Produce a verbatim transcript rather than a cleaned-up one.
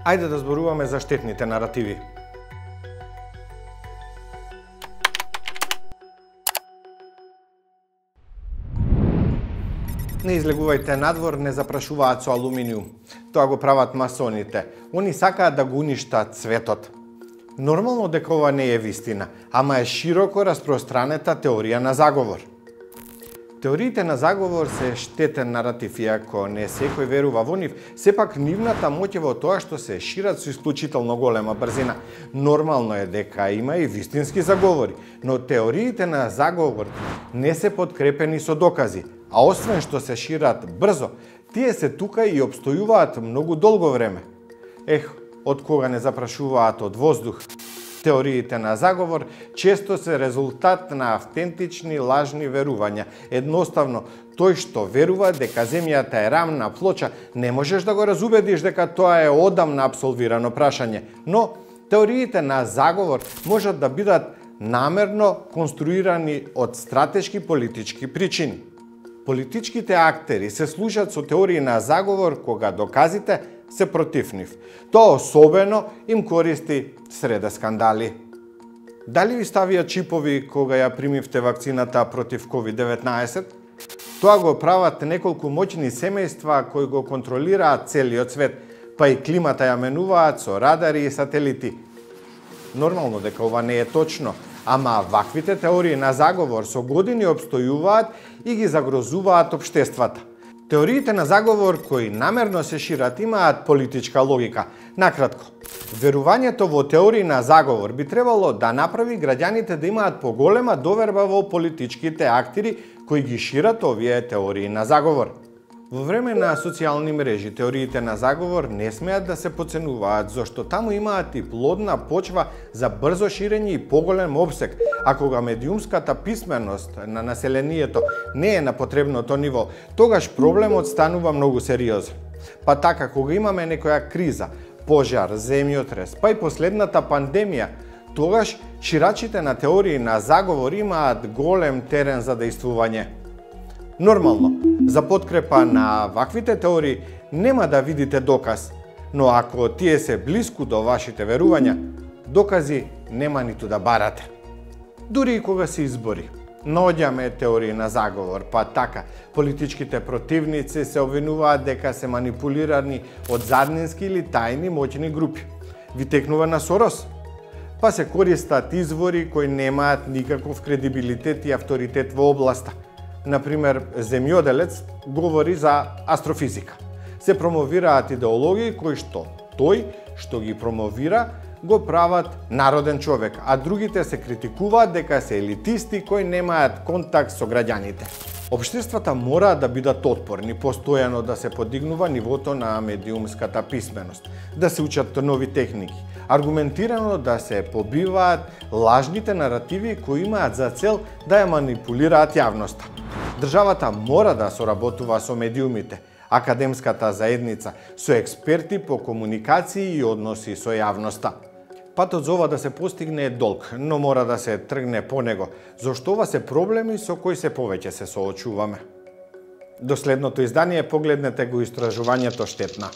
Ајде да зборуваме за штетните наративи. Не излегувајте надвор, не запрашуваат со алуминиум. Тоа го прават масоните. Они сакаат да го уништат светот. Нормално дека ова не е вистина, ама е широко распространета теорија на заговор. Теориите на заговор се штетен наратив, иако не секој верува во нив, сепак нивната моќ е во тоа што се шират со исклучително голема брзина. Нормално е дека има и вистински заговори, но теориите на заговор не се подкрепени со докази, а освен што се шират брзо, тие се тука и опстојуваат многу долго време. Ех, од кога не запрашуваат од воздух. Теориите на заговор често се резултат на автентични лажни верувања. Едноставно, тој што верува дека земјата е рамна плоча, не можеш да го разубедиш дека тоа е одамна апсолвирано прашање. Но теориите на заговор можат да бидат намерно конструирани од стратешки политички причини. Политичките актери се служат со теории на заговор кога доказите се против нив. Тоа особено им користи среде скандали. Дали ви ставија чипови кога ја примивте вакцината против ковид деветнаесет? Тоа го прават неколку моќни семејства кои го контролираат целиот свет, па и климата ја менуваат со радари и сателити. Нормално дека ова не е точно, ама ваквите теории на заговор со години обстојуваат и ги загрозуваат општествата. Теориите на заговор кои намерно се шират имаат политичка логика. Накратко, верувањето во теории на заговор би требало да направи граѓаните да имаат поголема доверба во политичките актери кои ги шират овие теории на заговор. Во време на социјални мрежи, теориите на заговор не смеат да се поценуваат, зашто таму имаат и плодна почва за брзо ширење и поголем обсег, а кога медиумската писменост на населението не е на потребното ниво, тогаш проблемот станува многу сериозен. Па така, кога имаме некоја криза, пожар, земјотрес, па и последната пандемија, тогаш ширачите на теории на заговор имаат голем терен за дејствување. Нормално, за подкрепа на ваквите теории нема да видите доказ, но ако тие се блиску до вашите верувања, докази нема ниту да барате. Дури и кога се избори, наоѓаме теории на заговор, па така, политичките противници се обвинуваат дека се манипулирани од заднински или тајни моќни групи. Ви текнува на Сорос? Па се користат извори кои немаат никаков кредибилитет и авторитет во областа. Например, земјоделец говори за астрофизика. Се промовираат идеологии кои што тој што ги промовира го прават народен човек, а другите се критикуваат дека се елитисти кои немаат контакт со граѓаните. Општествата мора да бидат отпорни, постојано да се подигнува нивото на медиумската писменост, да се учат нови техники, аргументирано да се побиваат лажните наративи кои имаат за цел да ја манипулираат јавноста. Државата мора да соработува со медиумите, академската заедница, со експерти по комуникации и односи со јавноста. Патот за ова да се постигне е долг, но мора да се тргне по него, зашто ова се проблеми со кои се повеќе се соочуваме. До следното издание погледнете го истражувањето Штетна.